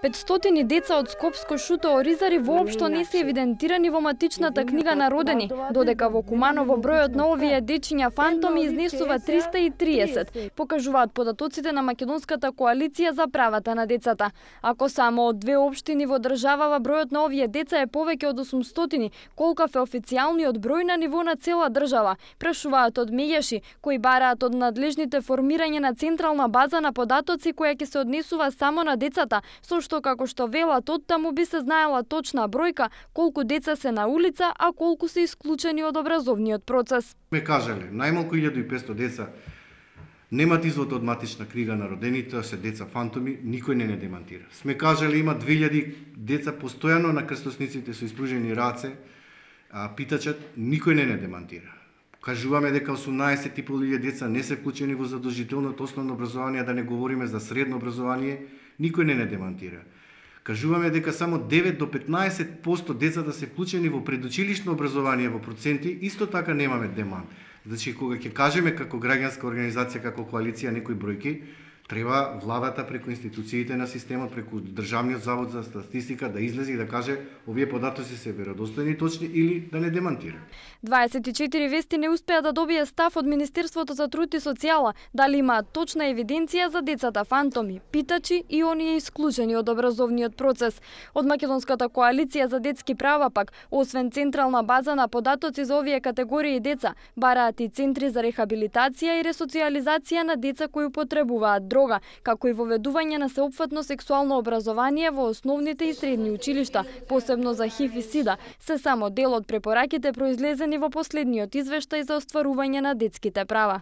500 деца од Скопско шуто Оризари воопшто не се евидентирани во матичната книга на родени, додека во Куманово бројот на овие дечиња фантоми изнесува 330, покажуваат податоците на Македонската коалиција за правата на децата. Ако само од 2 општини во државава бројот на овие деца е повеќе од 800, колкав е официјалниот број на ниво на цела држава, прашуваат од меѓаши, кои бараат од надлежните формирање на централна база на податоци која ќе се однесува само на децата, со што како што велат оттаму би се знаела точна бројка колку деца се на улица, а колку се исклучени од образовниот процес. Ме кажале, најмалку 1500 деца немат извод од матична книга на родените, се деца фантоми, никој не демантира. Сме кажале има 2000 деца постојано на крстосниците со испружени раце, питачат, никој не демантира. Кажуваме дека 18.500 деца не се вклучени во задолжителното основно образование, да не говориме за средно образование, никој не демантира. Кажуваме дека само 9 до 15% децата се вклучени во предучилишно образование во проценти, исто така немаме демант. Значи, кога ќе кажеме како граѓанска организација, како коалиција некои бројки, треба владата преку институциите на системот, преку Државниот завод за статистика да излезе и да каже овие податоци се веродостојни и точни или да не демантира. 24 вести не успеа да добие став од Министерството за труд и социјала дали имаат точна евиденција за децата фантоми, питачи и оние исклучени од образовниот процес. Од Македонската коалиција за детски права пак, освен централна база на податоци за овие категории деца, бараат и центри за рехабилитација и ресоциализација на деца кои употребуваат дрога, како и воведување на сеопфатно сексуално образование во основните и средни училишта, посебно за ХИВ и СИДА, се само дел од препораките произлезени во последниот извештај за остварување на детските права.